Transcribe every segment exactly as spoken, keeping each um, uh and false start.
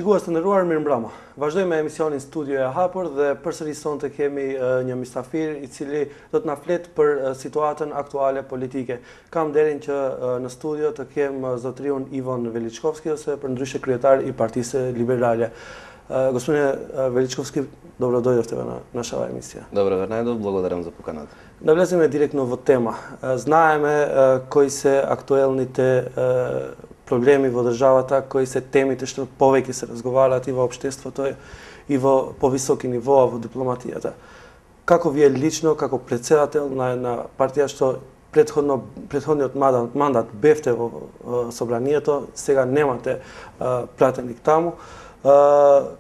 Shikues të nderuar, mirëmbrëma. Vazhdojmë me emisionin Studio e Hapur dhe përsëri sonte kemi uh, një mysafir i cili do të na flet për uh, situatën aktuale politike. Kam nderin që uh, në studio të kem uh, zotriun Ivon Veličkovski ose për ndryshe kryetar i Partisë Liberale. Uh, Gospodine uh, Veličkovski, dobro doјдовте на наша емисија. Добро ве најдов, благодарам за поканата. Да влеземе директно во тема. Uh, знаеме uh, кои се актуелните uh, проблеми во државата, кои се темите што повеќе се разговараат и во општеството и во повисоки нивоа во дипломатијата. Како вие лично, како претседател на една партија што предходно предходниот мандат, мандат бевте во, во собранието, сега немате а, пратеник таму. А,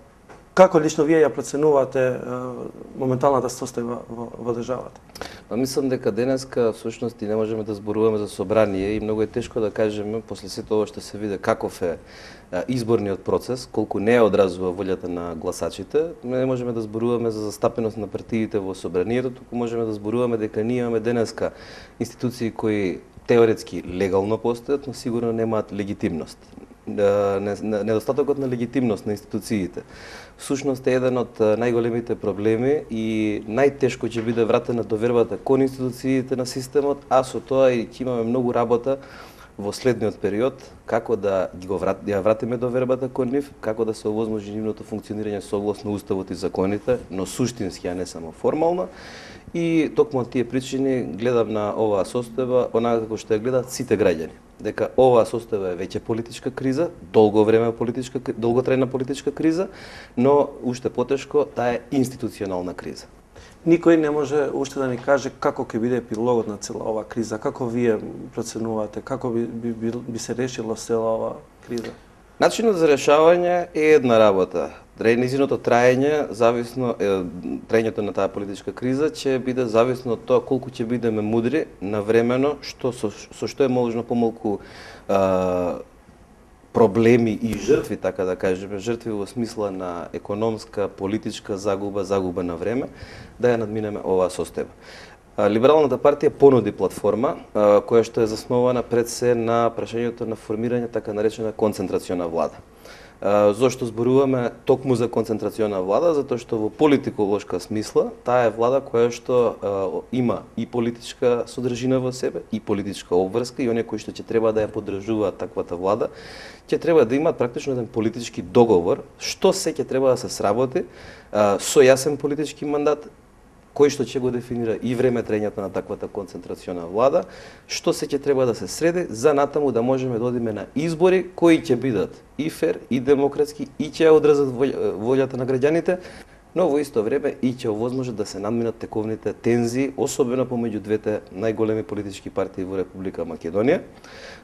како лично вие ја проценувате а, моменталната состојба во, во државата? Па мислам дека денеска всушност и не можеме да зборуваме за собрание и многу е тешко да кажеме после сето ова што се види каков е изборниот процес, колку не одразува волјата на гласачите. Не можеме да зборуваме за застапеност на партиите во собранието, туку можеме да зборуваме дека ние имаме денеска институции кои теоретски легално постојат, но сигурно немаат легитимност. Недостатокот на легитимност на институциите всушност е еден од најголемите проблеми и најтешко ќе биде вратена довербата кон институциите на системот, а со тоа и ќе имаме многу работа во следниот период, како да ги го врат, ја вратиме довербата кон нив, како да се овозможи нивното функционирање согласно уставот и законите, но суштински, а не само формално. И токму од тие причини гледам на оваа состојба онака како што ја гледаат сите граѓани. Дека оваа состојба е веќе политичка криза, долго време политичка, долготрајна политичка криза, но уште потешко таа е институционална криза. Никој не може уште да ни каже како ќе биде епилогот на цела оваа криза, како вие проценувате, како би, би, би, би се решило цела оваа криза? Начинот за решавање е една работа. Незиното траење, зависно е, траењето на таа политичка криза ќе биде зависно од тоа колку ќе бидеме мудри навремено, што со, со што е можно помалку а, проблеми и жртви, така да кажеме, жртви во смисла на економска, политичка загуба, загуба на време, да ја надминеме оваа состојба. Либералната партија понуди платформа која што е заснована пред се на прашањето на формирање така наречена концентрациона влада. Зошто зборуваме токму за концентрациона влада? Затоа што во политиколошка смисла таа е влада која што е, има и политичка содржина во себе, и политичка обврска, и оние кои што ќе треба да ја поддржуваат таквата влада, ќе треба да имаат практично еден политички договор, што се ќе треба да се сработи со јасен политички мандат, кој што ќе го дефинира и време траењето на таквата концентрациона влада, што се ќе треба да се среди за натаму да можеме да одиме на избори кои ќе бидат и фер, и демократски, и ќе одразат волјата на граѓаните, но во исто време и ќе овозможат да се надминат тековните тензии, особено помеѓу двете најголеми политички партии во Република Македонија,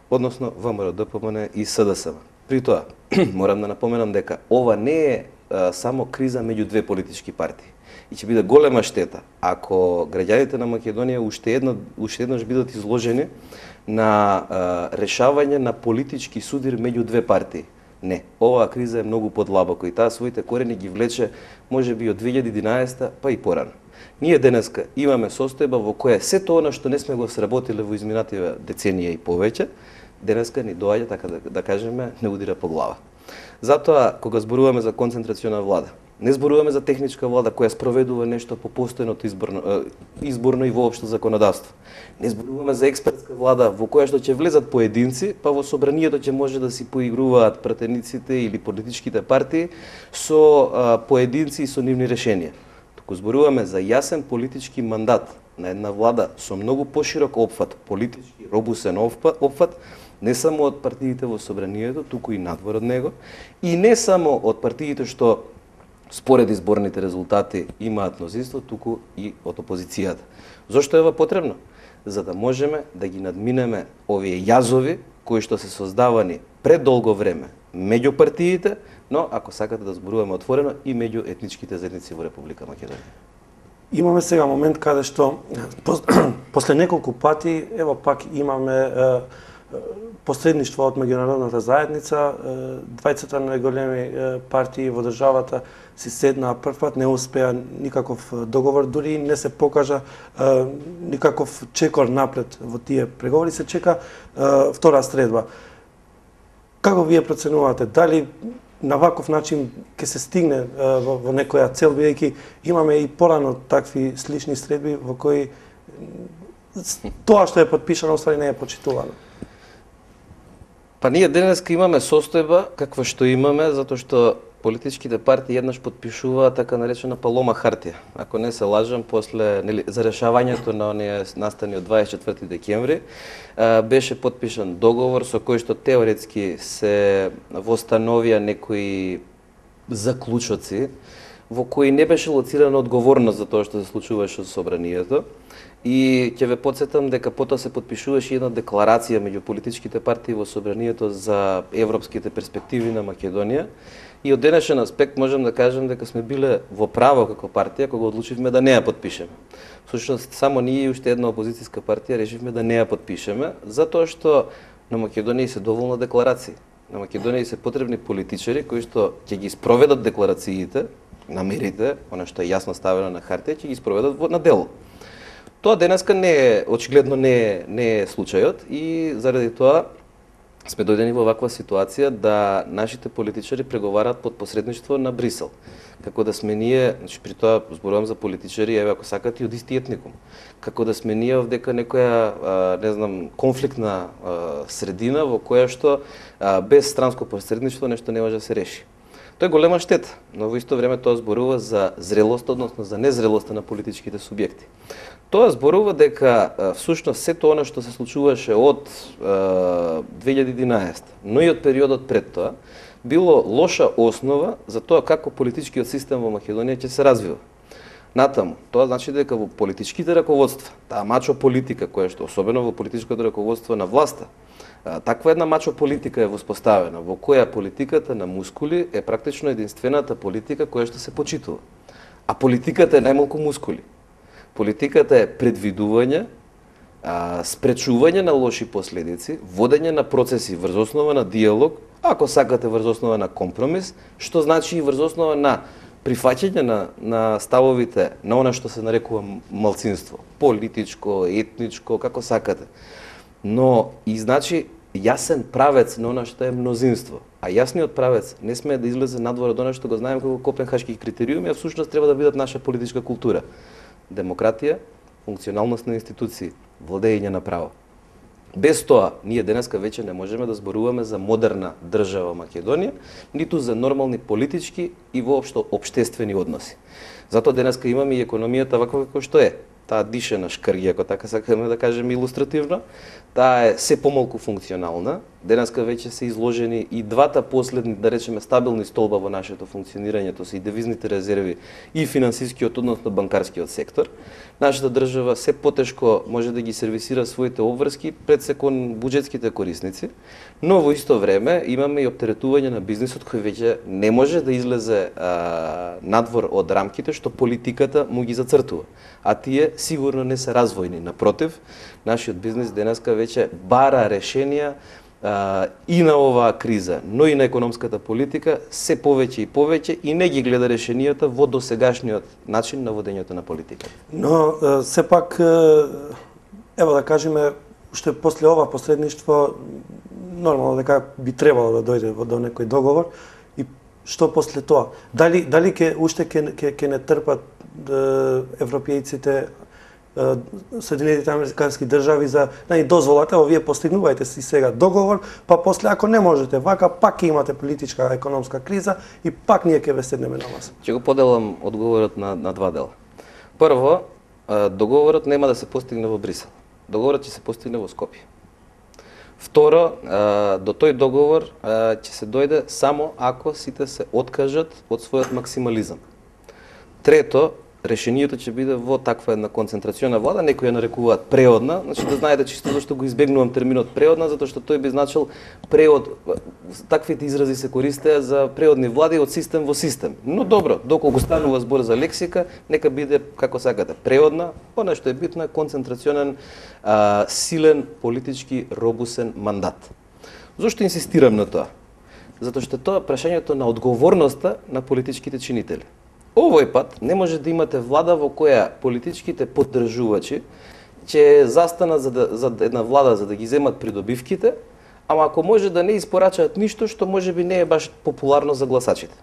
односно ВМРО Д П М Н и С Д С М. При тоа, морам да напоменам дека ова не е а, само криза меѓу две политички партии. И ќе биде голема штета ако граѓаните на Македонија уште едно уште еднаш бидат изложени на а, решавање на политички судир меѓу две партии. Не, оваа криза е многу подлабоко и таа своите корени ги влече можеби од две илјади и единаесета па и порано. Ние денеска имаме состојба во која сето она што не сме го сработиле во изминативе деценија и повеќе, денеска ни доаѓа, така да, да кажеме, не удира по глава. Затоа, кога зборуваме за концентрациона влада, не зборуваме за техничка влада која спроведува нешто по постојното изборно, изборно и воопшто законодавство. Не зборуваме за експертска влада во која што ќе влезат поединци, па во собранието ќе може да си поигруваат пратениците или политичките партии со а, поединци и со нивни решенија. Туку зборуваме за јасен политички мандат на една влада со многу поширок опфат, политички робусен опфат, не само од партиите во собранието, туку и надвор од него, и не само од партиите што според изборните резултати имаат мнозинство, туку и од опозицијата. Зошто е ова потребно? За да можеме да ги надминеме овие јазови кои што се создавани пред долго време меѓу партиите, но ако сакате да зборуваме отворено и меѓу етничките заедници во Република Македонија. Имаме сега момент каде што после неколку пати ево пак имаме е, посредништво од меѓународната заедница, двајцата најголеми партии во државата си седнаа прв пат, не успеа никаков договор, дури не се покажа никаков чекор напред во тие преговори, се чека втора средба. Како вие проценувате, дали на ваков начин ќе се стигне во, во некоја цел, бидејќи имаме и порано такви слични средби во кои тоа што е подпишано уствари не е почитувано. Па ние денеска имаме состојба каква што имаме, затоа што политичките партии еднаш подпишуваат така наречена палома хартија. Ако не се лажам, после нели, за решавањето на оние настани од дваесет и четврти декември, беше подпишан договор со кој што теоретски се востановија некои заклучоци, во кои не беше лоцирана одговорност за тоа што се случуваше со собранието. И ќе ве потсетам дека потоа се подпишуваше една декларација меѓу политичките партии во собранието за европските перспективи на Македонија. И од денешен аспект можам да кажам дека сме биле во право како партија кога одлучивме да не ја подпишеме. Всушност само ние и уште една опозицијска партија решивме да не ја подпишеме, затоа што на Македонија се доволно декларации. На Македонија се потребни политичари кои што ќе ги спроведат декларациите, намерите, она што е јасно ставено на хартија, ќе ги спроведат на дело. Тоа денеска не е, очигледно не е, не е случајот и заради тоа сме дојдени во ваква ситуација да нашите политичари преговараат под посредништво на Брисел. Како да сме ние, значи при тоа зборувам за политичари, еве ако сакате од исти етникум. Како да сме ние овдека некоја, не знам, конфликтна средина во која што без странско посредништво нешто не може да се реши. Тоа е голема штета, но во исто време тоа зборува за зрелост, односно за незрелоста на политичките субјекти. Тоа зборува дека всушност сето она што се случуваше од две илјади и единаесета, но и од периодот пред тоа, било лоша основа за тоа како политичкиот систем во Македонија ќе се развива. Натаму, тоа значи дека во политичките раководства, таа мачо политика која што особено во политичкото раководство на власта, таква една мачо политика е воспоставена, во која политиката на мускули е практично единствената политика која што се почитува. А политиката е најмалку мускули. Политиката е предвидување, спречување на лоши последици, водење на процеси врз основа на диалог, ако сакате врз основа на компромис, што значи и врз основа на прифаќање на, на ставовите на она што се нарекува малцинство, политичко, етничко, како сакате. Но и значи јасен правец на она што е мнозинство. А јасниот правец не смее да излезе надвор од она што го знаеме како Копенхашки критериуми, а всушност треба да бидат наша политичка култура. Демократија, функционалност на институции, владење на право. Без тоа, ние денеска веќе не можеме да зборуваме за модерна држава Македонија, ниту за нормални политички и воопшто општествени односи. Затоа денеска имаме и економијата ваква како што е. Таа дише на шкрги, ако така сакаме да кажеме илустративно. Таа е се помалку функционална. Денеска веќе се изложени и двата последни, да речеме, стабилни столба во нашето функционирање, тоа се и девизните резерви и финансискиот, односно банкарскиот сектор. Нашата држава се потешко може да ги сервисира своите обврски пред се кон буџетските корисници, но во исто време имаме и оптеретување на бизнисот кој веќе не може да излезе а, надвор од рамките што политиката му ги зацртува. А тие сигурно не се развојни. Напротив, нашиот бизнис денеска веќе бара решенија а, и на оваа криза, но и на економската политика се повеќе и повеќе и не ги гледа решенијата во досегашниот начин на водењето на политиката. Но сепак, ево да кажеме, уште после ова посредништво нормално дека би требало да дојде до некој договор и што после тоа? Дали дали ќе уште ќе ќе ќе не трпат европејците, Соединетите американски држави за наји дозволата, ово вие постигнувајте си сега договор, па после ако не можете вака, пак ќе имате политичка економска криза и пак ние ќе ве седнеме на маса. Ќе го поделам одговорот на, на два дела. Прво, договорот нема да се постигне во Брисел. Договорот ќе се постигне во Скопје. Второ, до тој договор ќе се дојде само ако сите се откажат од својот максимализам. Трето, решението ќе биде во таква една концентрациона влада, некои ја нарекуваат преодна, значи да знаете чисто зашто го избегнувам терминот преодна, затоа што тој би значил преод, таквите изрази се користеа за преодни влади од систем во систем. Но добро, доколку станува збор за лексика, нека биде како сакате преодна, она што е битно е концентрационен, а, силен политички робусен мандат. Зошто инсистирам на тоа? Затоа што тоа прашањето на одговорноста на политичките чинители. Овој пат не може да имате влада во која политичките поддржувачи ќе застанат за, да, за една влада за да ги земат придобивките, ама ако може да не испорачаат ништо што можеби не е баш популарно за гласачите.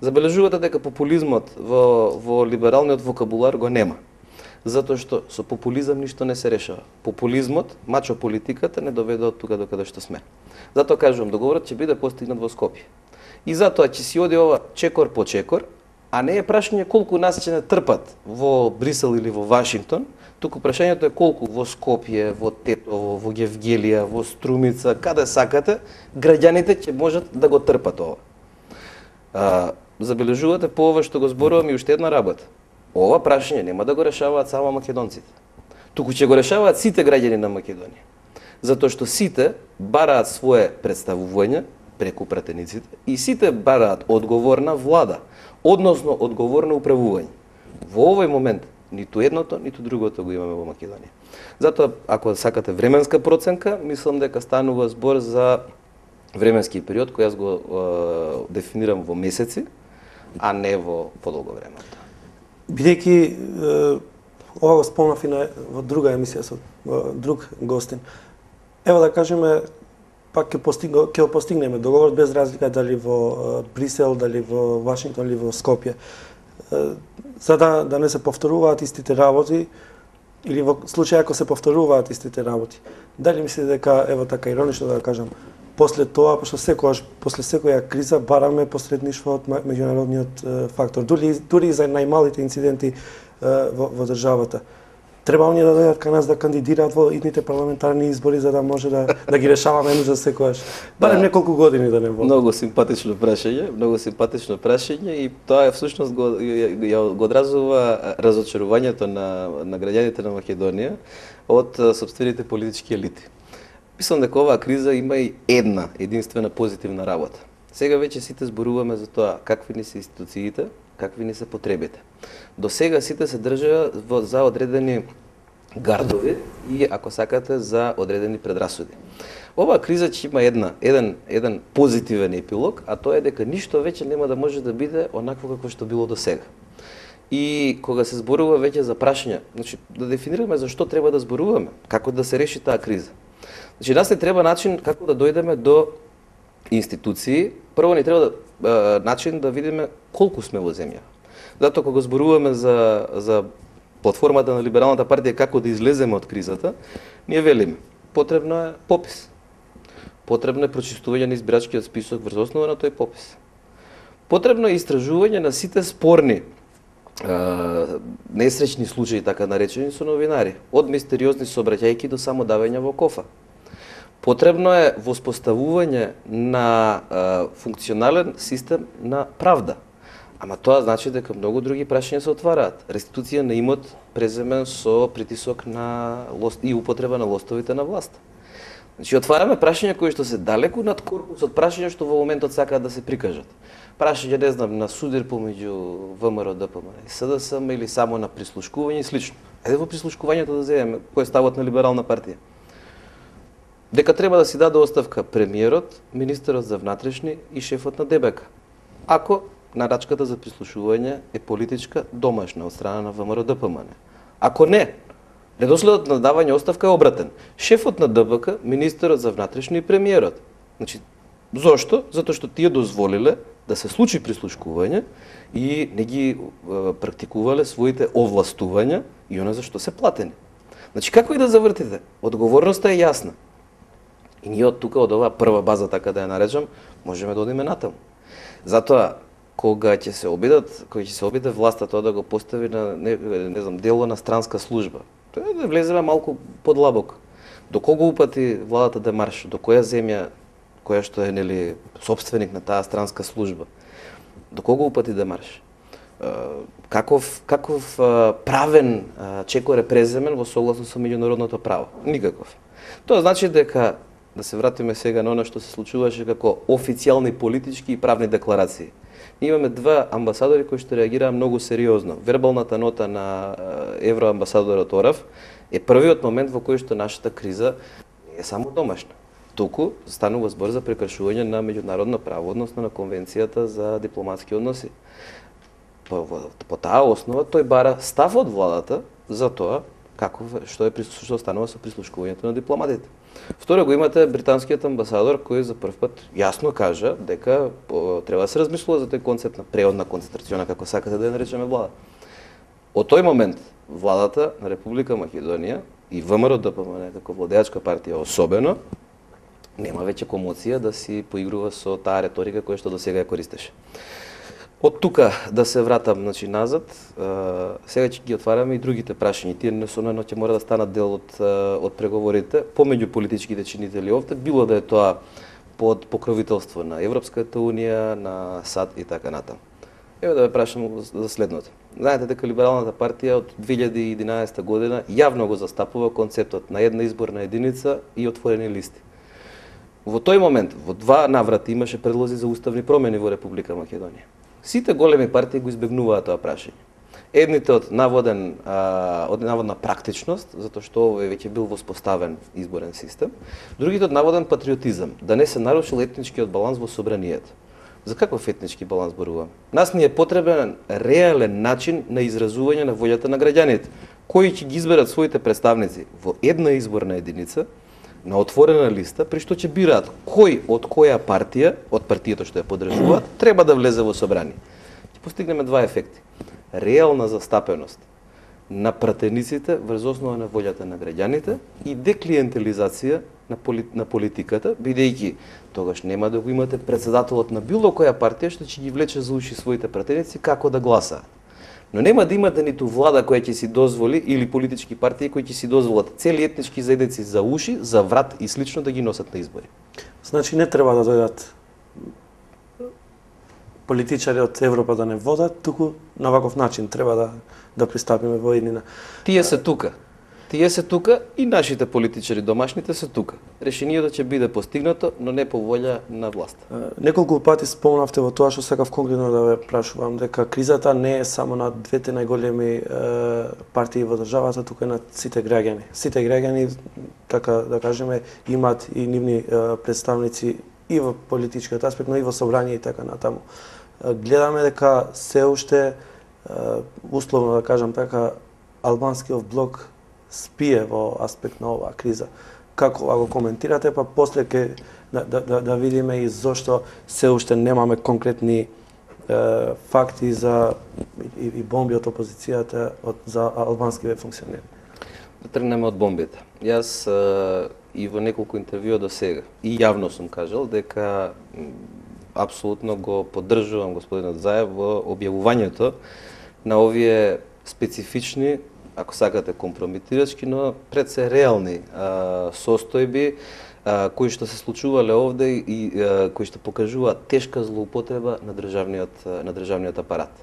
Забележувате дека популизмот во, во либералниот вокабулар го нема. Затоа што со популизам ништо не се решава. Популизмот, мачо политиката, не доведе од тука до каде што сме. Затоа кажувам, договорот ќе биде постигнат во Скопје. И затоа ќе си оди ова чекор по чекор, а не е прашање колку нас ќе не трпат во Брисел или во Вашингтон, туку прашањето е колку во Скопје, во Тетово, во Гевгелија, во Струмица, каде сакате, граѓаните ќе можат да го трпат ова. А, забележувате по ова што го зборувам и уште една работа. Ова прашање нема да го решаваат само македонците. Туку ќе го решаваат сите граѓани на Македонија. Затоа што сите бараат свое представување преку пратениците и сите бараат одговорна влада, односно одговорно управување. Во овој момент ниту едното, ниту другото го имаме во Македонија. Затоа, ако сакате временска проценка, мислам дека станува збор за временски период кој јас го е, дефинирам во месеци, а не во подолго време. Бидејќи ова го спомнав и на, во друга емисија со друг гостин. Ево да кажеме, пак ќе постигнеме, ќе постигнеме договор без разлика дали во Брисел, дали во Вашингтон или во Скопје. За да, да не се повторуваат истите работи, или во случај ако се повторуваат истите работи. Дали мислите дека, ево така иронично да кажам, после тоа, пошто секогаш, после секоја криза бараме посредништво од меѓународниот фактор, дури, дури за најмалите инциденти во, во државата. Треба оние да дојдат кај нас да кандидираат во идните парламентарни избори за да може да, да ги решаваме еднаш за секогаш. Барем да, неколку години да не водат. Многу симпатично прашање, многу симпатично прашање и тоа е всушност го, го одразува разочарувањето на, на граѓаните на Македонија од сопствените политички елити. Мислам дека оваа криза има и една единствена позитивна работа. Сега веќе сите зборуваме за тоа какви ни се институциите, какви ни се потребите. До сега сите се држаа за одредени гардови и, ако сакате, за одредени предрасуди. Оваа криза ќе има една, еден, еден позитивен епилог, а тоа е дека ништо веќе нема да може да биде онакво како што било до сега. И кога се зборува веќе за прашања, значи да дефинираме за што треба да зборуваме, како да се реши таа криза. Значи, нас не треба начин како да дојдеме до институции. Прво ни треба да, е, начин да видиме колку сме во земја. Затоа кога зборуваме за, за платформата на Либералната партија како да излеземе од кризата, ние велиме, потребно е попис. Потребно е прочистување на избирачкиот список врз основа на тој попис. Потребно е истражување на сите спорни Uh, несречни случаи, така наречени, со новинари, од мистериозни сообраќајки до само давање во кофа. Потребно е воспоставување на uh, функционален систем на правда. Ама тоа значи дека многу други прашања се отвараат. Реституција на имот преземен со притисок на лост и употреба на лостовите на власт. Значи, отвараме прашања кои што се далеку над корпусот прашања што во моментот сакаат да се прикажат. Прашање, не знам, на судир помеѓу ВМРО, ДПМН и СДСМ или само на прислушкување и слично. Ајде во прислушкувањето да земеме кој е ставот на Либерална партија. Дека треба да си даде оставка премиерот, министерот за внатрешни и шефот на ДБК. Ако нарачката за прислушување е политичка, домашна од страна на ВМРО, ДПМН. Ако не, редоследот на давање оставка е обратен. Шефот на ДБК, министерот за внатрешни и премиерот. Значи, зошто? Затоа што тие дозволиле да се случи прислушкување и не ги е, практикувале своите овластувања и она за што се платени. Значи, како и да завртите, одговорноста е јасна. И ние од тука, од оваа прва база, така да ја наречам, можеме да одиме натаму. Затоа, кога ќе се обидат, кога ќе се обиде власта тоа да го постави на не, не знам, дело на странска служба, тоа е да влеземе малку подлабоко. До кого упати владата демарш, до која земја која што е, нели, собственик на таа странска служба. До кого упати демарш? Каков, каков правен чекор е преземен во согласно со меѓународното право? Никаков. Тоа значи дека, да се вратиме сега на оно што се случуваше како официјални политички и правни декларации. Ние имаме два амбасадори кои што реагираа многу сериозно. Вербалната нота на евроамбасадорот Орав е првиот момент во кој што нашата криза не е само домашна. Туку станува збор за прекршување на меѓународно право, односно на Конвенцијата за дипломатски односи. По, по, по таа основа тој бара став од владата за тоа како што е што станува со прислушкувањето на дипломатите. Второ, го имате британскиот амбасадор кој за прв пат јасно кажа дека о, треба да се размислува за тој концепт на преодна концентрациона, како сакате да ја наречеме влада. Од тој момент владата на Република Македонија и ВМРО Д П М Н како владеачка партија особено нема веќе комоција да си поигрува со таа реторика која што досега ја користеше. Од тука да се вратам, значи, назад, сега ќе ги отвараме и другите прашања. Тие несомнено ќе мора да станат дел од, од преговорите помеѓу политичките чинители овде, било да е тоа под покровителство на Европската унија, на САД и така натаму. Ево да ве прашам за следното. Знаете дека Либералната партија од две илјади и единаесета година јавно го застапува концептот на една изборна единица и отворени листи. Во тој момент, во два наврати имаше предлози за уставни промени во Република Македонија. Сите големи партии го избегнуваат тоа прашање. Едните од наводен а, од наводна практичност, затоа што овој веќе бил воспоставен изборен систем, другите од наводен патриотизам, да не се нарушил етничкиот баланс во собранието. За каков етнички баланс зборувам? Нас ни е потребен реален начин на изразување на волјата на граѓаните, кои ќе ги изберат своите представници во една изборна единица, на отворена листа, при што ќе бираат кој од која партија, од партијата што ја поддржуваат, треба да влезе во собрание. Ќе постигнеме два ефекти. Реална застапеност на пратениците врз основа на волјата на граѓаните и деклиентелизација на, поли, на политиката, бидејќи тогаш нема да го имате председателот на било која партија што ќе ги влече за уши своите пратеници како да гласаат. Но нема да имате ниту влада која ќе си дозволи или политички партии кои ќе си дозволат цели етнички заедници за уши, за врат и слично да ги носат на избори. Значи не треба да дојдат политичари од Европа да не водат, туку на ваков начин треба да да пристапиме во еднина. Тие се тука. Тие се тука и нашите политичари домашните се тука. Решението ќе биде постигнато, но не по волја на власт. Неколку пати спомнавте во тоа што сакав конкретно да ве прашувам, дека кризата не е само на двете најголеми е, партии во државата, туку е на сите граѓани. Сите граѓани, така да кажеме, имаат и нивни е, представници и во политичкиот аспект, но и во собрание и така натаму. Гледаме дека се уште, условно да кажам така, албанскиот блок спие во аспект на оваа криза. Како го коментирате, па после ќе да, да, да, да видиме и зошто се уште немаме конкретни е, факти за и, и бомби од опозицијата од, за албанскиве функционери. Да тргнеме од бомбите. Јас е, и во неколку интервјуа до сега и јавно сум кажал дека апсолутно го поддржувам господинот Заев во објавувањето на овие специфични, ако сакате компромитирачки, но пред се реални а, состојби а, кои што се случувале овде и а, кои што покажуваат тешка злоупотреба на државниот на државниот апарат.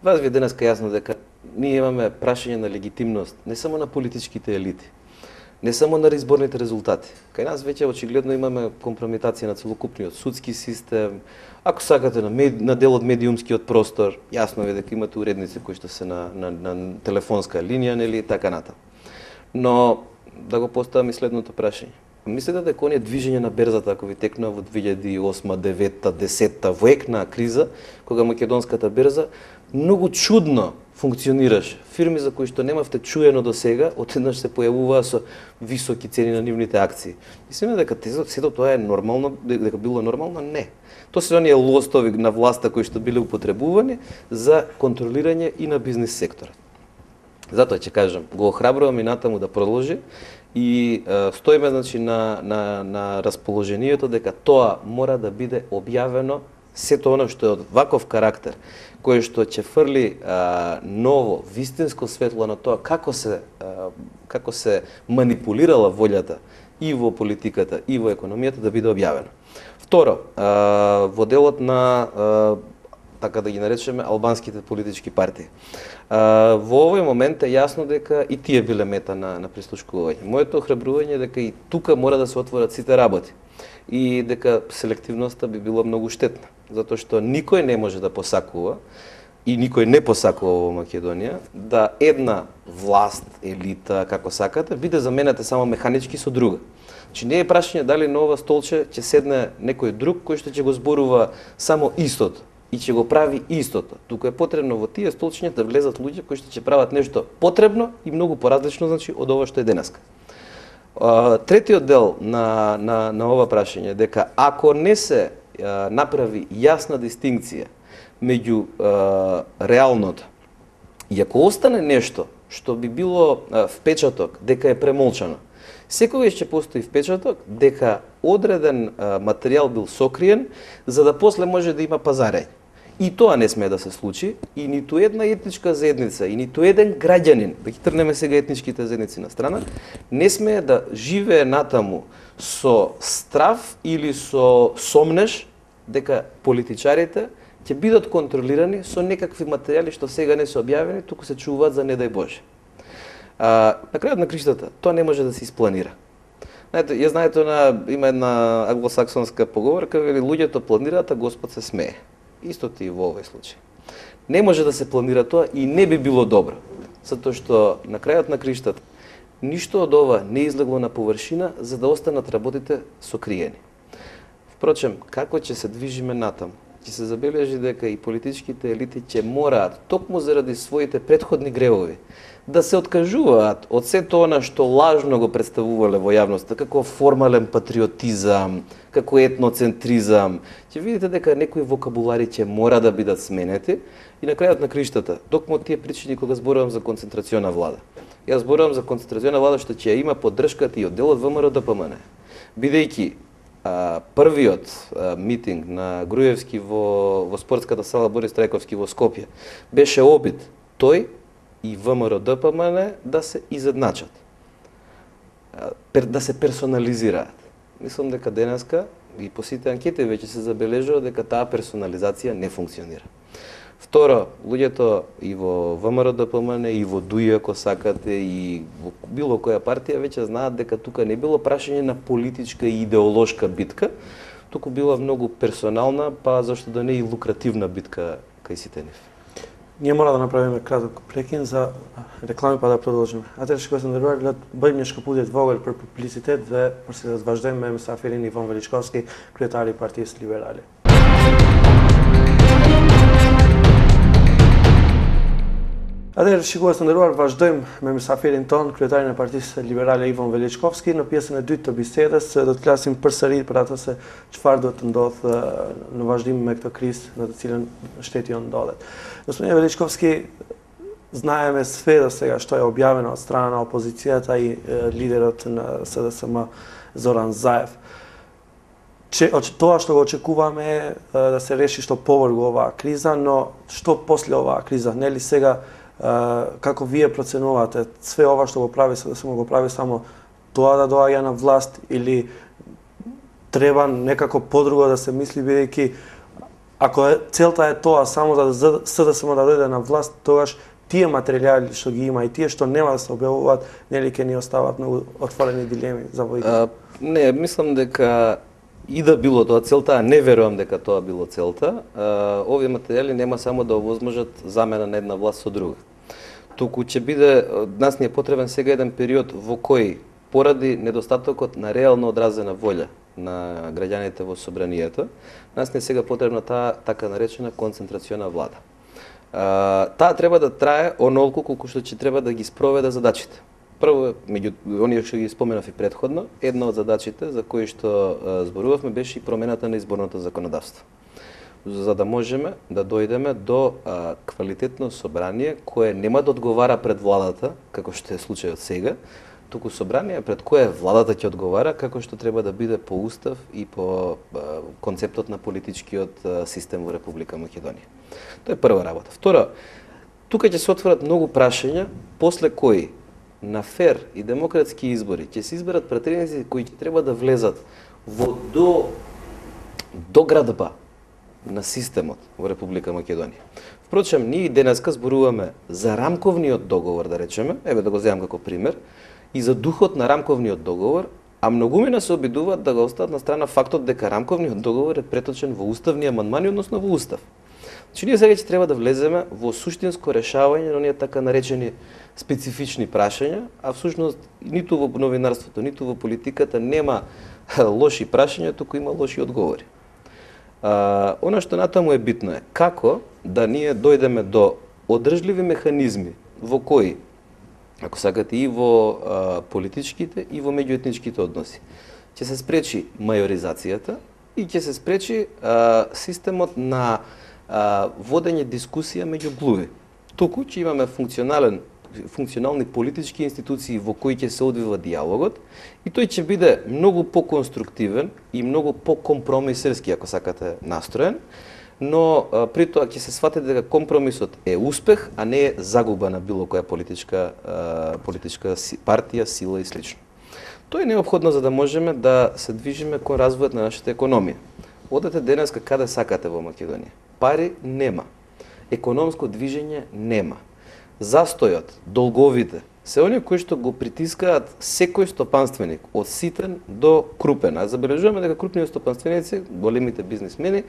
Вас ви денеска јасно дека ние имаме прашање на легитимност не само на политичките елити, не само на изборните резултати. Кај нас веќе очигледно имаме компрометација на целокупниот судски систем, ако сакате на, мед, на дел од медиумскиот простор, јасно е дека имате уредници кои што се на, на, на телефонска линија, нели, така ната. Но да го поставам и следното прашање. Мислите дека оние движење на берзата, ако ви текнува во две илјади и осма, девета, десетта, во ек на криза, кога македонската берза многу чудно функционираше. Фирми за кои што немавте чуено до сега, одеднаш се појавуваа со високи цени на нивните акции. Мислиме дека сето тоа е нормално, дека било нормално? Не. Тоа се оние лостови на власта кои што биле употребувани за контролирање и на бизнис секторот. Затоа ќе кажам, го охрабрувам и натаму да продолжи и е, стоиме значи на на на расположението дека тоа мора да биде објавено, сето оно што е од ваков карактер, кое што ќе фрли а, ново, вистинско светло на тоа како се а, како се манипулирала волјата и во политиката и во економијата, да биде објавено. Второ, а, во делот на а, така да ги наречеме албанските политички партии. А, во овој момент е јасно дека и тие биле мета на, на прислушкување. Моето охрабрување е дека и тука мора да се отворат сите работи и дека селективноста би била многу штетна, затоа што никој не може да посакува и никој не посакува во Македонија да една власт, елита, како сакате, биде заменета само механички со друга. Значи не е прашање дали на ова столче ќе седне некој друг кој што ќе го зборува само истото и ќе го прави истото. Туку е потребно во тие столчиња да влезат луѓе кои што ќе прават нешто потребно и многу поразлично, значи, од ова што е денеска. Третиот дел на, на, на ова прашање е дека ако не се а, направи јасна дистинкција меѓу а, реалното и ако остане нешто што би било а, впечаток дека е премолчано, секогаш ќе постои впечаток дека одреден а, материјал бил сокриен за да после може да има пазарење. И тоа не смее да се случи и ниту една етничка заедница и ниту еден граѓанин, да ги трнеме сега етничките заедници на страна, не смее да живее натаму со страв или со сомнеш дека политичарите ќе бидат контролирани со некакви материјали што сега не се објавени, туку се чуваат за не дај Боже. А, на крајот на криштата, тоа не може да се испланира. Знаете, ја знаете на има една англосаксонска поговорка, вели луѓето планираат, а Господ се смее. Истото и во овој случај. Не може да се планира тоа и не би било добро, затоа што на крајот на криштата ништо од ова не излегло на површина за да останат работите сокриени. Впрочем, како ќе се движиме натаму? Ќе се забележи дека и политичките елити ќе мораат, токму заради своите претходни гревови, да се откажуваат од сето она што лажно го представувале во јавноста, како формален патриотизам, како етноцентризам. Ќе видите дека некои вокабулари ќе мора да бидат сменети и на крајот на криштата, токму тие причини кога зборувам за концентрациона влада. Јас зборувам за концентрациона влада што ќе има поддршката и од делот ВМРО Д П М Н. Бидејќи а, првиот а, митинг на Груевски во, во спортската сала Борис Трајковски во Скопје беше обид тој и ВМРО Д П М Н да се изедначат, да се персонализираат. Мислам дека денеска и по сите анкети веќе се забележува дека таа персонализација не функционира. Второ, луѓето и во ВМРО Д П М Н и во ДУИ, ако сакате, и во било која партија веќе знаат дека тука не било прашање на политичка и идеолошка битка, туку била многу персонална, па зашто да не и лукративна битка кај сите нив. Ние мора да направиме краток прекин за реклами па да продолжиме. А те што сум добро, бъдем нешко пудет во оголь per publicitet dhe për se të vazhdojmë me mësafirin Ivan Veličkovski, kryetari i Partisë Liberale. Atëherë, shikues të nderuar, vazhdojmë me mësafirin ton, kryetarin e Partisë Liberale Ivan Veličkovski. Në pjesën e dytë të bisedës do të flasim përsëri për atë se çfarë do të ndodhë në vazhdim me këtë krizë në të cilën shteti jon ndodhet. Господин Величковски, знаеме сфера сега што е објавено од страна на опозицијата и е, лидерот на С Д С М Зоран Заев. Че, тоа што го очекуваме е да се реши што повргу оваа криза, но што после оваа криза? Нели сега, е, како вие проценувате, све ова што го прави С Д С М го прави само тоа да доаѓа на власт или треба некако подруго да се мисли, бидејќи ако е, целта е тоа само за да С Д С М да дојде на власт, тогаш тие материјали што ги има и тие што нема да се објавуваат, нели ќе ни остават многу отворени дилеми за војка? Не, мислам дека и да било тоа целта, а не верувам дека тоа било целта, а, овие материјали нема само да овозможат замена на една власт со друга. Туку ќе биде, нас ни е потребен сега еден период во кој поради недостатокот на реално одразена волја на граѓаните во собранието, нас не е сега потребна таа така наречена концентрациона влада. А, таа треба да трае онолку колку што ќе треба да ги спроведе задачите. Прво, меѓу оние што ги споменав и претходно, една од задачите за кои што а, зборувавме беше и промената на изборното законодавство. За да можеме да дојдеме до а, квалитетно собрание кое нема да одговара пред владата, како што е случајот сега, туку собрание пред кое владата ќе одговара како што треба да биде по устав и по а, концептот на политичкиот а, систем во Република Македонија. Тоа е прва работа. Втора, тука ќе се отворат многу прашања после кои на фер и демократски избори ќе се изберат пратеници кои ќе треба да влезат во до доградба на системот во Република Македонија. Впрочем, ние денеска зборуваме за рамковниот договор, да речеме, еве да го земам како пример, и за духот на рамковниот договор, а многумина се обидуваат да го остават на страна фактот дека рамковниот договор е преточен во уставни амандмани, односно во устав. Значи, ние сега ќе треба да влеземе во суштинско решавање на оние така наречени специфични прашања, а всушност ниту во новинарството, ниту во политиката нема лоши прашања, туку има лоши одговори. А, она што натаму е битно е како да ние дојдеме до одржливи механизми во кои ако сакате, и во а, политичките и во меѓуетничките односи. Ќе се спречи мајоризацијата и ќе се спречи а, системот на а, водење дискусија меѓу глуви. Туку ќе имаме функционален функционални политички институции во кои ќе се одвива диалогот и тој ќе биде многу поконструктивен и многу покомпромисерски, ако сакате, настроен, но а, при тоа ќе се свати дека компромисот е успех, а не е загуба на било која политичка а, политичка партија, сила и слично. Тоа е неопходно за да можеме да се движиме кон развојот на нашата економија. Одете денеска каде сакате во Македонија. Пари нема. Економско движење нема. Застојот, долговите, се оние кои што го притискаат секој стопанственик, од ситен до крупен. А забележуваме дека крупните стопанственици, големите бизнисмени,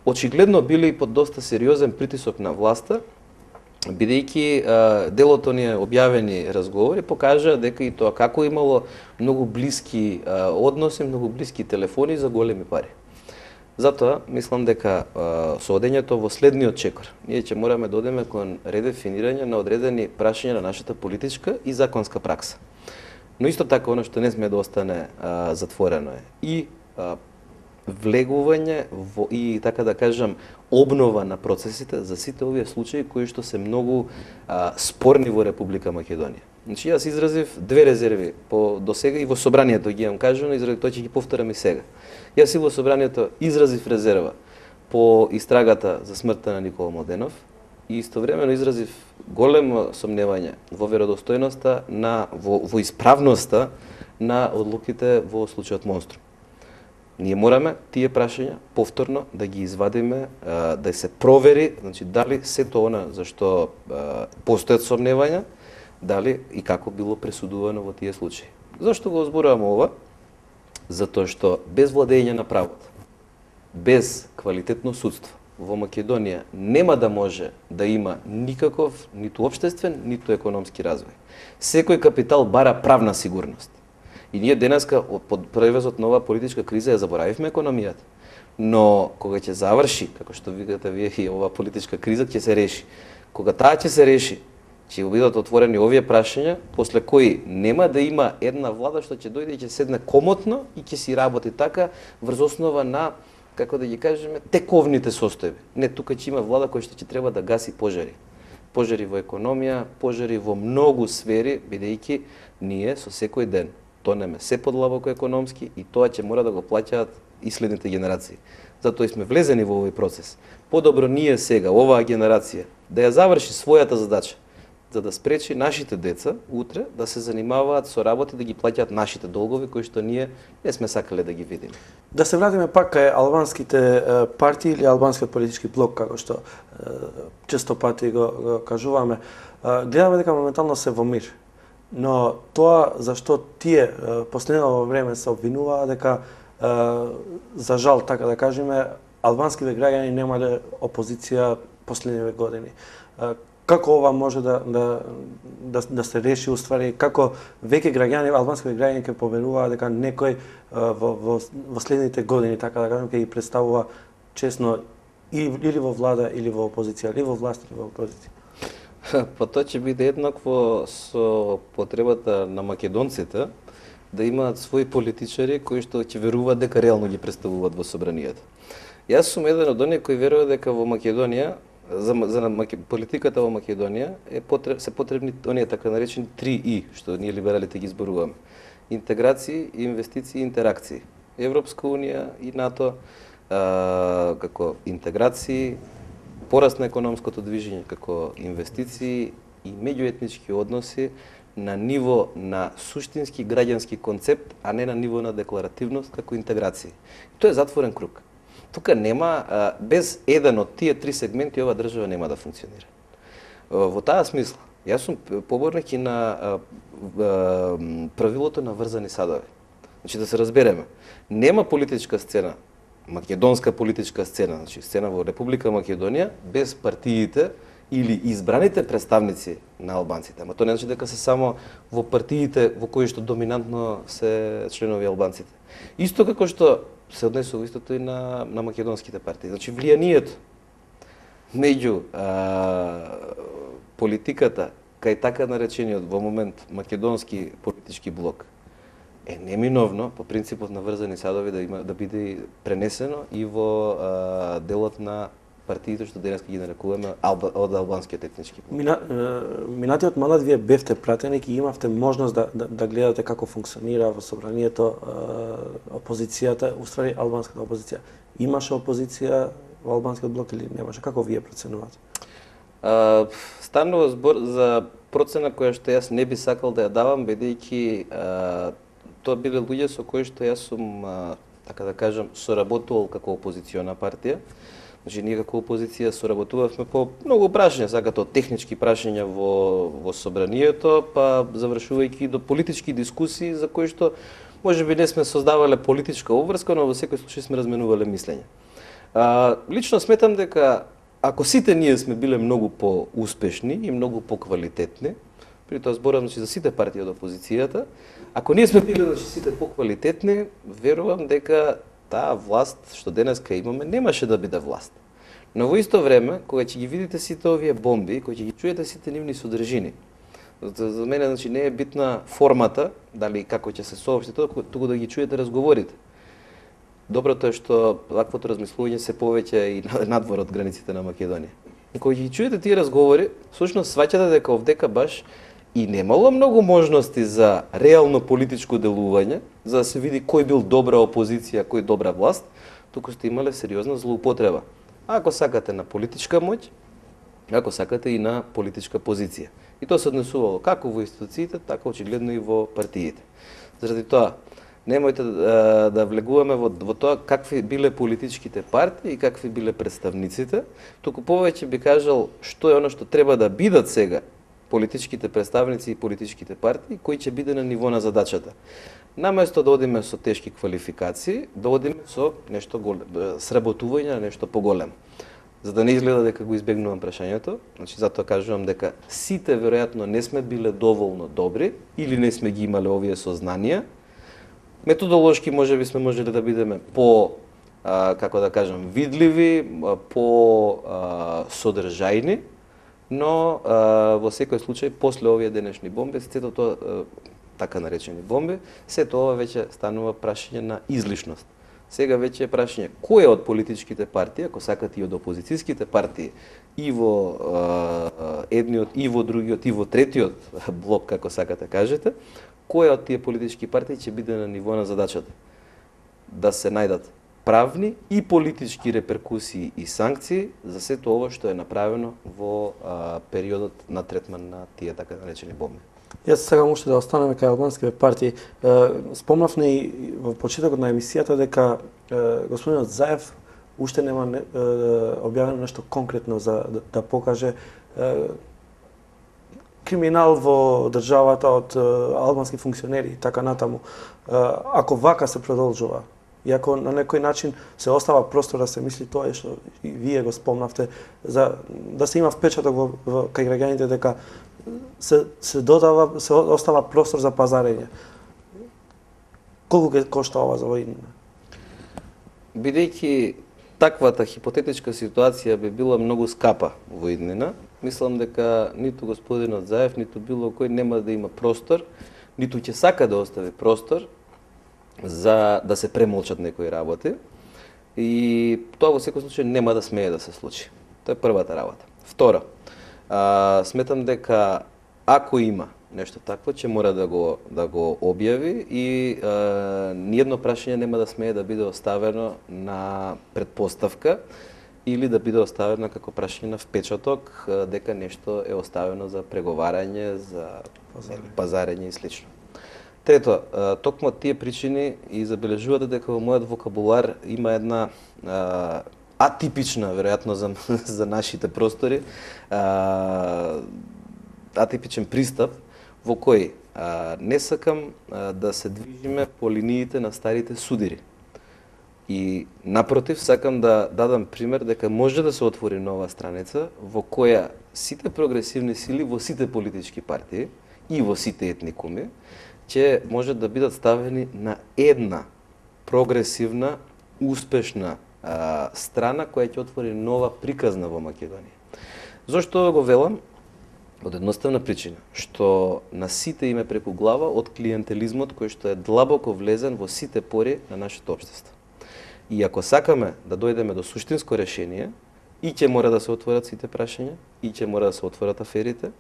очигледно били под доста сериозен притисок на власта, бидејќи дел од оние објавени разговори покажа дека и тоа како имало многу блиски а, односи, многу блиски телефони за големи пари. Затоа, мислам дека а, со одењето во следниот чекор, ние ќе мораме да одеме кон редефинирање на одредени прашања на нашата политичка и законска пракса. Но исто така, оно што не сме да остане а, затворено е и а, влегување во, и, така да кажам, обнова на процесите за сите овие случаи кои што се многу а, спорни во Република Македонија. Значи, јас изразив две резерви по досега и во собранието ги имам кажано, и заради тоа ќе ги повторам и сега. Јас и во собранието изразив резерва по истрагата за смртта на Никола Младенов и истовремено изразив големо сомневање во веродостојноста на во, во исправноста на одлуките во случајот Монструм. Ние мораме тие прашања повторно да ги извадиме, да се провери, значи дали сето она за што постојат сомневања, дали и како било пресудувано во тие случаи. Зошто го зборувам ова? Затоа што без владење на правото, без квалитетно судство во Македонија нема да може да има никаков ниту општествен, ниту економски развој. Секој капитал бара правна сигурност. И ние денеска под превезот на оваа политичка криза ја заборавивме економијата. Но кога ќе заврши, како што викате вие, и оваа политичка криза ќе се реши. Кога таа ќе се реши, ќе бидат отворени овие прашања, после кои нема да има една влада што ќе дојде и ќе седне комотно и ќе си работи така врз основа на, како да ги кажеме, тековните состојби. Не, тука ќе има влада која што ќе треба да гаси пожари. Пожари во економија, пожари во многу сфери, бидејќи ние со секој ден тонеме се подлабоко економски и тоа ќе мора да го плаќаат и следните генерации. Затоа и сме влезени во овој процес. Подобро ние сега, оваа генерација, да ја заврши својата задача, за да спречи нашите деца утре да се занимаваат со работи, да ги плаќаат нашите долгови кои што ние не сме сакале да ги видиме. Да се вратиме пак кај албанските партии или албанскиот политички блок, како што често пати го, го кажуваме. Гледаме дека моментално се во мир. Но тоа зашто тие последно време се обвинуваа дека за жал, така да кажеме, албанските граѓани немале опозиција последниве години. Како ова може да, да, да, да се реши уствари, како веќе граѓани, албанските граѓани ќе поверуваат дека некој во, во, во следните години, така да кажем, ќе ги представува честно или во влада, или во опозиција, или во власт, или во опозиција? Па тоа ќе биде еднакво со потребата на македонците да имаат своји политичари кои што ќе веруваат дека реално ги представуваат во собранието. Јас сум еден од оние кои верува дека во Македонија, за, за политиката во Македонија е потреб, се потребни оние така наречени три И, што ние либералите ги зборуваме. Интеграции, инвестиции и интеракции. Европска унија и НАТО а, како интеграции, пораст на економското движење како инвестиции и меѓуетнички односи на ниво на суштински граѓански концепт, а не на ниво на декларативност како интеграции. Тоа е затворен круг. Тука нема, без еден од тие три сегменти, ова држава нема да функционира. Во таа смисла, јас сум поборник и на правилото на врзани садови. Значи да се разбереме, нема политичка сцена, македонска политичка сцена, значи сцена во Република Македонија, без партиите или избраните представници на албанците. Ама тоа не значи дека се само во партиите во кои што доминантно се членови албанците. Исто како што се однесува истото и на, на македонските партии. Значи влијанието меѓу а, политиката кај така наречениот во момент македонски политички блок е неминовно по принципот на врзани садови да има да биде пренесено и во а, делот на партиите што денеска ги нарекуваме алба, од албанскиот етнички блок. Мина, минатиот мандат вие бевте пратеник и имавте можност да, да, да гледате како функционира во собранието опозицијата, уствари албанската опозиција. Имаше опозиција во албанскиот блок или немаше? Како вие проценувате? А, станува збор за процена која што јас не би сакал да ја давам, бидејќи тоа биле луѓе со кои што јас сум, а, така да кажам, соработувал како опозициона партија. Значи, ние како опозиција соработувавме по многу прашања, сакате од технички прашања во, во собранието, па завршувајќи до политички дискусии за кои што може би не сме создавале политичка обврска, но во секој случај сме разменувале мислења. А, лично сметам дека ако сите ние сме биле многу по-успешни и многу по-квалитетни, при тоа зборам значи, за сите партии од опозицијата, ако ние сме биле значи, сите по-квалитетни, верувам дека таа власт што денеска имаме немаше да биде власт. Но во исто време, кога ќе ги видите сите овие бомби, кога ќе ги чуете сите нивни содржини, за, за мене значи не е битна формата, дали како ќе се соопшти тоа, туку да ги чуете разговорите. Доброто е што ваквото размислување се повеќе и надвор од границите на Македонија. И кога ги чуете тие разговори, всушност сваќате дека овдека баш и немало многу можности за реално политичко делување, за да се види кој бил добра опозиција, кој добра власт, туку сте имале сериозна злоупотреба. Ако сакате на политичка моќ, ако сакате и на политичка позиција. И тоа се однесувало како во институциите, така очигледно и во партиите. Заради тоа, немојте да, да влегуваме во, во тоа какви биле политичките партии и какви биле представниците, туку повеќе би кажал што е оно што треба да бидат сега политичките представници и политичките партии, кои ќе биде на ниво на задачата. Наместо да одиме со тешки квалификации, да одиме со нешто големо, сработување на нешто поголемо. За да не изгледа дека го избегнувам прашањето, значи затоа кажувам дека сите веројатно не сме биле доволно добри или не сме ги имале овие сознанија. Методолошки можеби сме можеле да бидеме по а, како да кажам видливи, по а, содржајни, но а, во секој случај после овие денешни бомби, сето тоа а, така наречени бомби, сето ова веќе станува прашање на излишност. Сега веќе е прашање кој од политичките партии, ако сакате и од опозицијските партии, и во а, едниот, и во другиот, и во третиот блок, како сакате кажете, кој од тие политички партии ќе биде на ниво на задачата? Да се најдат правни и политички реперкусии и санкции за сето ова што е направено во а, периодот на третман на тие така наречени бомби. Јас сакам уште да останеме кај албанските партии. Спомнавме и во почетокот на емисијата дека господинот Заев уште нема не, објавено нешто конкретно за да, да покаже криминал во државата од албански функционери и така натаму. Ако вака се продолжува, и ако на некој начин се остава простор да се мисли тоа што и вие го спомнавте, за да се има впечаток во, во кај граѓаните дека се се додава, се остава простор за пазарење. Колку ќе кошта ова за војнина? Бидејќи таквата хипотетичка ситуација би била многу скапа во иднина, мислам дека ниту господинот Заев, ниту било кој нема да има простор, ниту ќе сака да остави простор за да се премолчат некои работи. И тоа во секој случај нема да смее да се случи. Тоа е првата работа. Втора, а, сметам дека ако има нешто такво, ќе мора да го да го објави и а, ниедно прашање нема да смее да биде оставено на предпоставка или да биде оставено како прашање на впечаток дека нешто е оставено за преговарање, за пазарење, пазарење и слично. Трето, токму од тие причини и забележувате дека во мојот вокабулар има една а, атипична, веројатно за, за нашите простори, а, атипичен пристап во кој а, не сакам а, да се движиме по линиите на старите судири. И напротив, сакам да дадам пример дека може да се отвори нова страница во која сите прогресивни сили во сите политички партии и во сите етникуми ќе може да бидат ставени на една прогресивна, успешна а, страна која ќе отвори нова приказна во Македонија. Зошто го велам? Од едноставна причина, што на сите име преку глава од клиентелизмот кој што е длабоко влезен во сите пори на нашето општество. И ако сакаме да дојдеме до суштинско решение, и ќе мора да се отворат сите прашања, и ќе мора да се отворат аферите,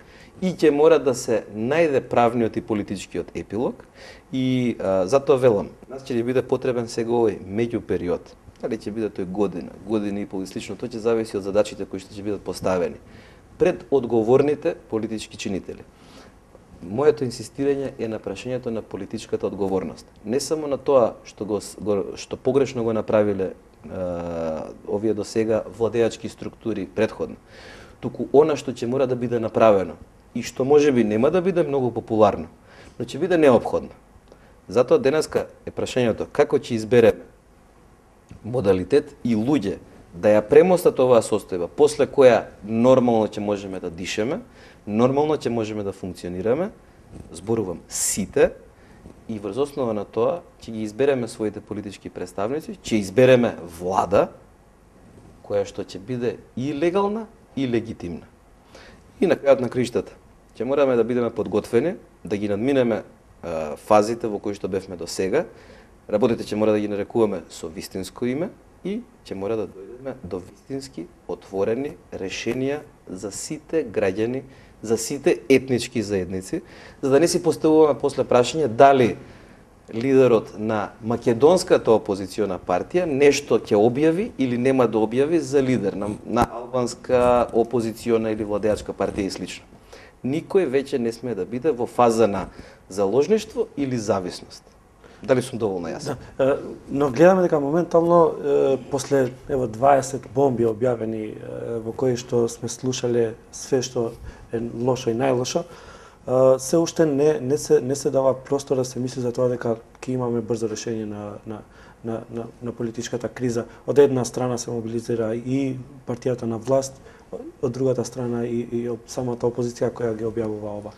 и ќе мора да се најде правниот и политичкиот епилог, и а, затоа велам, нас ќе ни биде потребен сега овој меѓупериод. Дали ќе биде тој година, година и пол и слично, тоа ќе зависи од задачите кои што ќе бидат поставени пред одговорните политички чинители. Моето инсистирање е на прашањето на политичката одговорност. Не само на тоа што го, што погрешно го направиле е, овие до сега владеачки структури предходно, туку она што ќе мора да биде направено и што можеби нема да биде многу популарно, но ќе биде неопходно. Затоа денеска е прашањето како ќе избереме модалитет и луѓе да ја премостат оваа состојба, после која нормално ќе можеме да дишеме, нормално ќе можеме да функционираме, зборувам сите, и врз основа на тоа ќе ги избереме своите политички представници, ќе избереме влада, која што ќе биде и легална, и легитимна. И на крајот на криштата, ќе мораме да бидеме подготвени, да ги надминеме е, фазите во кои што бевме до сега, работите ќе мора да ги нарекуваме со вистинско име, и ќе мора да дојдеме до вистински отворени решенија за сите граѓани, за сите етнички заедници, за да не си поставуваме после прашање дали лидерот на македонската опозициона партија нешто ќе објави или нема да објави за лидер на, на албанска опозициона или владеачка партија и слично. Никој веќе не сме да биде во фаза на заложништво или зависност. Дали сум доволно јасен? Да, но гледаме дека моментално после ево дваесет бомби објавени во кои што сме слушале све што е лошо и најлошо, се уште не не се не се дава простор да се мисли за тоа дека ќе имаме брзо решение на на на на, на политичката криза. Од една страна се мобилизира и партијата на власт, од другата страна и, и самата опозиција која ги објавува ова.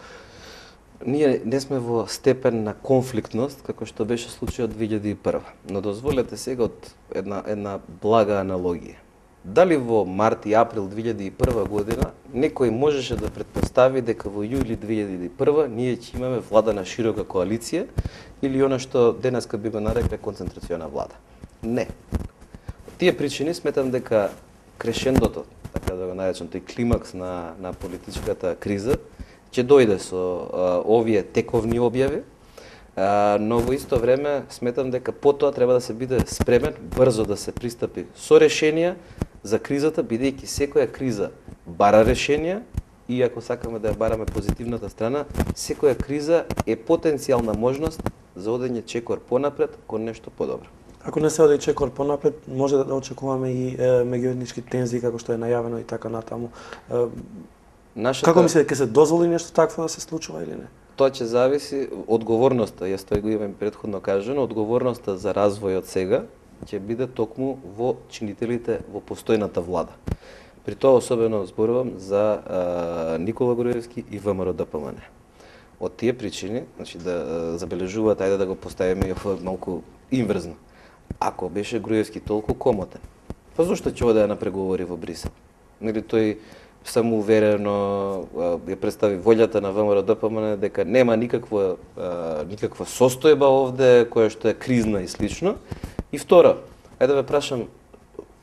Ние не сме во степен на конфликтност, како што беше случајот две илјади и прва. Но дозволете сега од една, една блага аналогија. Дали во март и април две илјади и прва година некој можеше да претпостави дека во јули две илјади и прва ние ќе имаме влада на широка коалиција или она што денеска би го нарекле концентрациона влада? Не. Од тие причини сметам дека крешендото, така да го наречам, тој климакс на, на политичката криза, ќе дојде со а, овие тековни објави, а, но во исто време сметам дека потоа треба да се биде спремен брзо да се пристапи со решенија за кризата, бидејќи секоја криза бара решенија и ако сакаме да ја бараме позитивната страна, секоја криза е потенцијална можност за одење чекор понапред кон нешто подобро. Ако не се оди чекор понапред, може да очекуваме и е, меѓуетнички тензии како што е најавено и така натаму. Е, Нашата... Како мислите, ќе се дозволи нешто такво да се случува или не? Тоа ќе зависи одговорноста, јас тоа го имам претходно кажано, одговорноста за развојот сега ќе биде токму во чинителите во постојната влада. При тоа особено зборувам за а, Никола Груевски и ВМРО Д П М Н. Од тие причини, значи да забележуваат, ајде да го поставиме малку инверзно. Ако беше Груевски толку комотен, па зошто ќе оде на преговори во Брисел? Нели тој самоуверено ја представи волјата на ВМРО Д П М Н дека нема никаква никаква состојба овде која што е кризна и слично. И второ, ајде да ве прашам,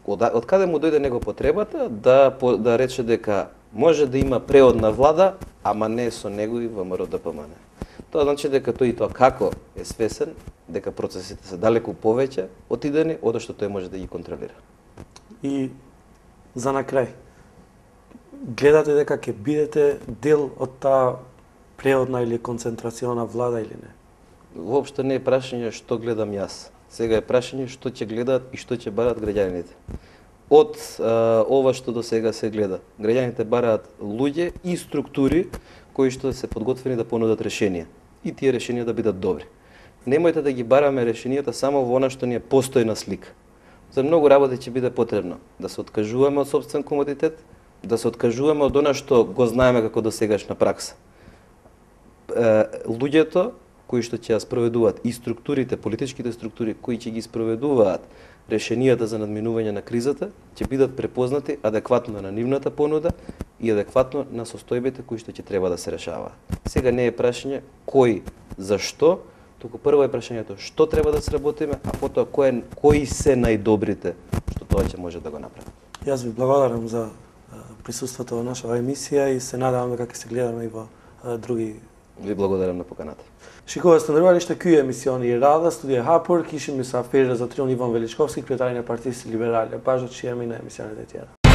од, од каде му дојде него потребата да да рече дека може да има преодна влада, ама не со него и ВМРО Д П М Н. Тоа значи дека тој и тоа како е свесен дека процесите се далеку повеќе отидени од што тој може да ги контролира. И за на крај, гледате дека ќе бидете дел од таа преодна или концентрациона влада или не? Воопшто не е прашање што гледам јас. Сега е прашање што ќе гледаат и што ќе бараат граѓаните. Од а, ова што до сега се гледа, граѓаните бараат луѓе и структури кои што се подготвени да понудат решенија. И тие решенија да бидат добри. Немојте да ги бараме решенијата само во она што ни е постојна слика. За многу работи ќе биде потребно да се откажуваме од сопствен комодитет, да се откажуваме од она што го знаеме како досегашна пракса. Е, луѓето кои што ќе ја спроведуваат и структурите, политичките структури кои ќе ги спроведуваат решенијата за надминување на кризата, ќе бидат препознати адекватно на нивната понуда и адекватно на состојбите кои што ќе треба да се решаваат. Сега не е прашање кој, зашто, туку прво е прашањето што треба да сработиме, а потоа кој, кои се најдобрите што тоа ќе може да го направи. Јас ви благодарам за присуството во нашава емисија и се надевам дека ќе се гледаме и во други. Ви благодарам на поканата. Шикува станувалиште, ky емисиони i radhës, studia hapur, kishim mysafirë zotërin Ivan Veliçkovski, kryetari i Partisë Liberale. Bashkë që jemi në emisionet e tjera.